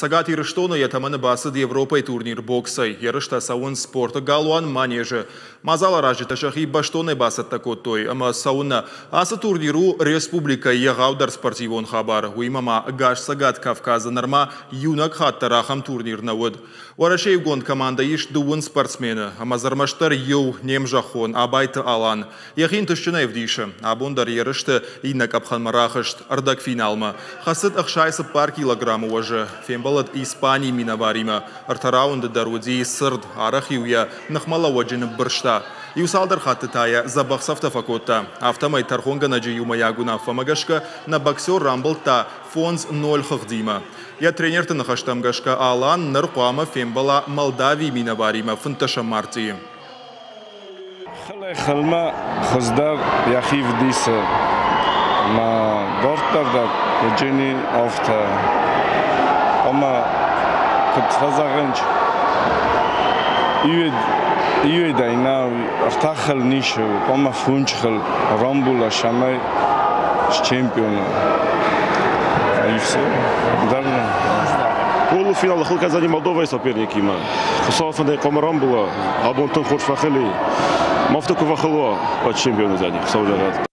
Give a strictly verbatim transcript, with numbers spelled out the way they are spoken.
Цӕгат Ирыстоны йӕ тӕмӕны бацыд Европӕйы турнир боксӕй. Ерыстӕ цӕуынц спорты галуан Манеж-ы. Мадзаларазджытӕ сӕхи бӕстонӕй бацӕттӕ кодтой. Ӕмӕ цӕуыннӕ? Ацы турнир у республикӕйы егъаудӕр спортивон хабар. Уыимӕ ма ӕгас Цӕгат Кавказы нырма иунӕг хатт дӕр ахӕм турнир нӕ уыд. Уӕрӕсейы иугонд командӕйы ис дыууын спортсмены. Ӕмӕ дзы ӕрмӕстдӕр иу, не мзӕххон Абайты Алан. Йӕхи ӕнтыстджынӕй ӕвдисы. Абон дӕр ерысты иннӕ къӕпхӕнмӕ рахызт, ӕрдӕгфиналмӕ. Хӕцыд ӕхсай цыппар килограммы уӕзы. Фембӕлд Испанийы минӕваримӕ. Ӕртӕ раунды дӕр уыди цырд, арӕх-иу йӕ ныхмӕлӕууӕджы ныббырста. Иу цалдӕр хатты та йӕ дзӕбӕх цӕфтӕ фӕкодта. Афтӕмӕй тӕрхонгӕнӕджы иумӕйаг уынаффӕмӕ гӕсгӕ нӕ боксер рамбылдта фондз ноль хыгъдимӕ. Йӕ тренерты ныхӕстӕм гӕсгӕ Алан ныр хъуамӕ фембӕла Молдавийы минӕваримӕ фынддӕсӕм мартъийы. Хылӕй-хылмӕ хуыздӕр йӕхи вдисы. Ӕмӕ дарддӕр дӕр уыджыни афтӕ. Ӕмӕ куыд фӕзӕгъынц, иуӕй нӕ ӕртӕ хыл нисы, хъуамӕ фондз хыл рамбула, цӕмӕй счемпион уа. И все. Дӕр Полуфиналы хыл кӕндзӕни Молдовайы соперникимӕ. Хуыцауы фӕндӕй хъуамӕ рамбула. Абон тынг хорз фӕхыл и. Ма афтӕ куы фӕхыл уа, уӕд чемпион уыдзӕни, Хуыцау зӕгъӕд.